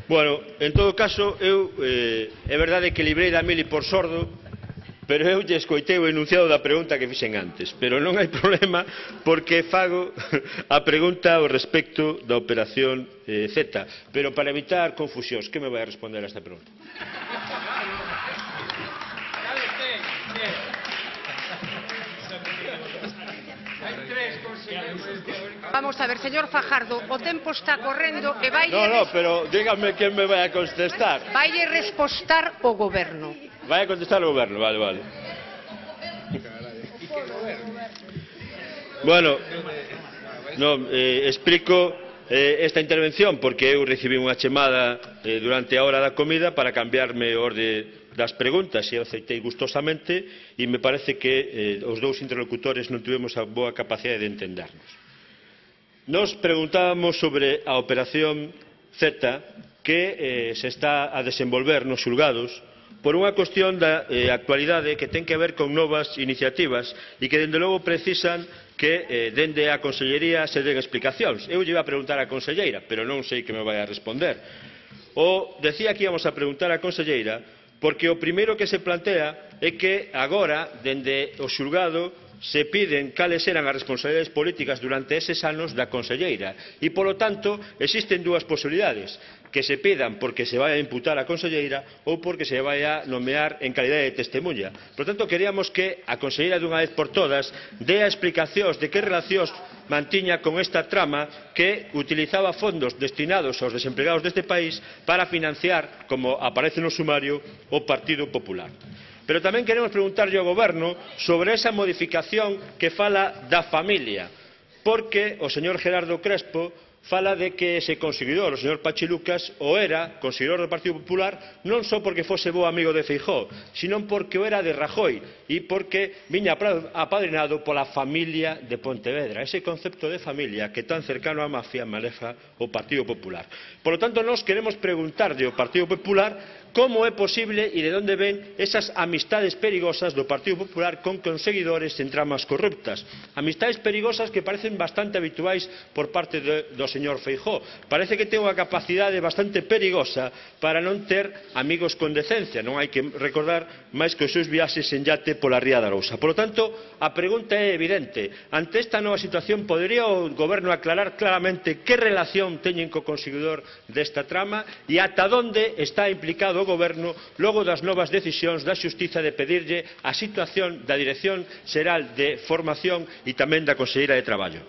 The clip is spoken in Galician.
Bueno, en todo caso, é verdade que librei da mili por sordo, pero eu lle escoitei o enunciado da pregunta que fixen antes. Pero non hai problema, porque fago a pregunta ao respecto da operación Z. Pero para evitar confusións, que me vai a responder a esta pregunta? Vamos a ver, señor Fajardo, o tempo está correndo e vai... No, pero dígame quen me vai a contestar. Vai respostar o goberno. Vai a contestar o goberno, vale. Bueno, explico esta intervención porque eu recibí unha chamada durante a hora da comida para cambiarme o orde das preguntas e eu aceitei gustosamente e me parece que os dous interlocutores non tivemos a boa capacidade de entendernos. Nos preguntábamos sobre a operación Z que se está a desenvolver nos xulgados por unha cuestión da actualidade que ten que ver con novas iniciativas e que, dende logo, precisan que dende a Consellería se den explicacións. Eu lle iba a preguntar á Conselleira, pero non sei que me vai a responder. Decía que íbamos a preguntar á Conselleira porque o primeiro que se plantea é que agora, dende o xulgado, se piden cales eran as responsabilidades políticas durante eses anos da Conselleira e, polo tanto, existen dúas posibilidades, que se pidan porque se vai a imputar a Conselleira ou porque se vai a nomear en calidade de testemunha. Por tanto, queríamos que a Conselleira dunha vez por todas dea explicacións de que relacións mantiña con esta trama que utilizaba fondos destinados aos desempregados deste país para financiar, como aparece no sumario, o Partido Popular. Pero tamén queremos preguntarlle ao Goberno sobre esa modificación que fala da familia, porque o señor Gerardo Crespo fala de que ese consignador, o señor Pachi Lucas, o era consignador do Partido Popular non só porque fose bo amigo de Feijóo, sino porque o era de Rajoy e porque viña apadrinado pola familia de Pontevedra, ese concepto de familia que tan cercano á mafia maneja o Partido Popular. Por lo tanto, nós queremos preguntarlle ao Partido Popular como é posible e de onde ven esas amistades perigosas do Partido Popular con conseguidores en tramas corruptas. Amistades perigosas que parecen bastante habituais por parte do señor Feijóo. Parece que ten unha capacidade bastante perigosa para non ter amigos con decencia. Non hai que recordar máis que os seus viaxes en yate pola Ría da Arousa. Por lo tanto, a pregunta é evidente. Ante esta nova situación, podería o Goberno aclarar claramente que relación teñen co conseguidor desta trama e ata onde está implicado o Goberno logo das novas decisións da Xustiza de pedirlle a situación da Dirección Xeral de Formación e tamén da Conselleira de Traballo.